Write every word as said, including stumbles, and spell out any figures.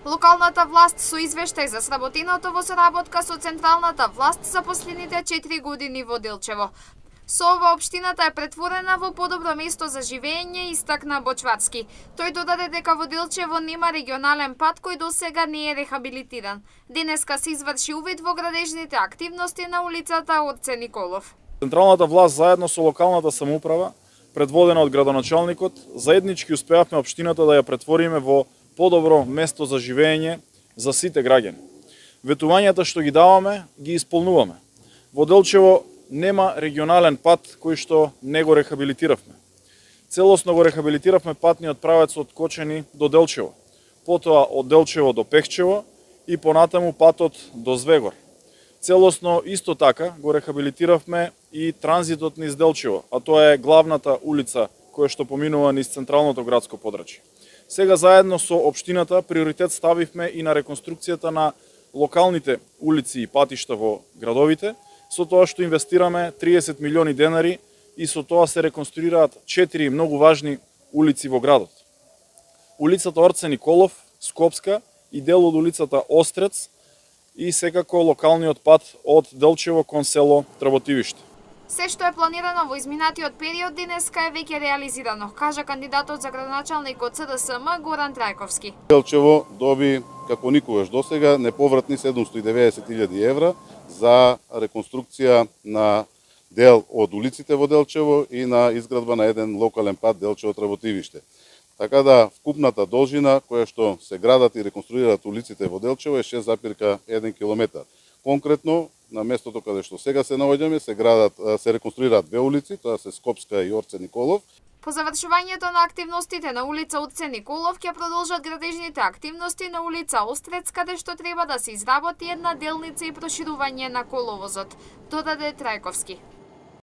Локалната власт со извештај за сработеното во соработка со централната власт за последните четири години во Делчево. Со ова општината е претворена во подобро место за живење, истакна Бочварски. Тој додаде дека во Делчево нема регионален пат кој досега не е рехабилитиран. Денеска се изврши увид во градежните активности на улицата Орце Николов. Централната власт заедно со локалната самоуправа, предводена од градоначалникот, заеднички успеавме општината да ја претвориме во подобро место за живење за сите граѓани. Ветувањата што ги даваме, ги исполнуваме. Во Делчево нема регионален пат кој што не го рехабилитиравме. Целосно го рехабилитиравме патниот правец од Кочани до Делчево, потоа од Делчево до Пехчево и понатаму патот до Звегор. Целосно исто така го рехабилитиравме и транзитот низ Делчево, а тоа е главната улица која што поминува низ централното градско подрачје. Сега заедно со општината приоритет ставивме и на реконструкцијата на локалните улици и патишта во градовите, со тоа што инвестираме триесет милиони денари и со тоа се реконструираат четири многу важни улици во градот. Улицата Орце Николов, Скопска и дел од улицата Острец и секако локалниот пат од Делчево кон село Трботивиште. Се што е планирано во изминатиот период денеска е веќе реализирано, кажа кандидатот за градоначалник од С Д С М Горан Трајковски. Делчево доби како никогаш досега неповратни седумстотини и деветдесет илјади евра за реконструкција на дел од улиците во Делчево и на изградба на еден локален пат Делчево Трботивиште. Така да вкупната должина која што се градат и реконструираат улиците во Делчево е шест запирка еден километар. Конкретно на местото каде што сега се наоѓаме се градат се реконструираат две улици, тоа се Скопска и Орце Николов. По завршувањето на активностите на улица Орце Николов ќе продолжат градежните активности на улица Острец, каде што треба да се изработи една делница и проширување на коловозот, додаде Трајковски.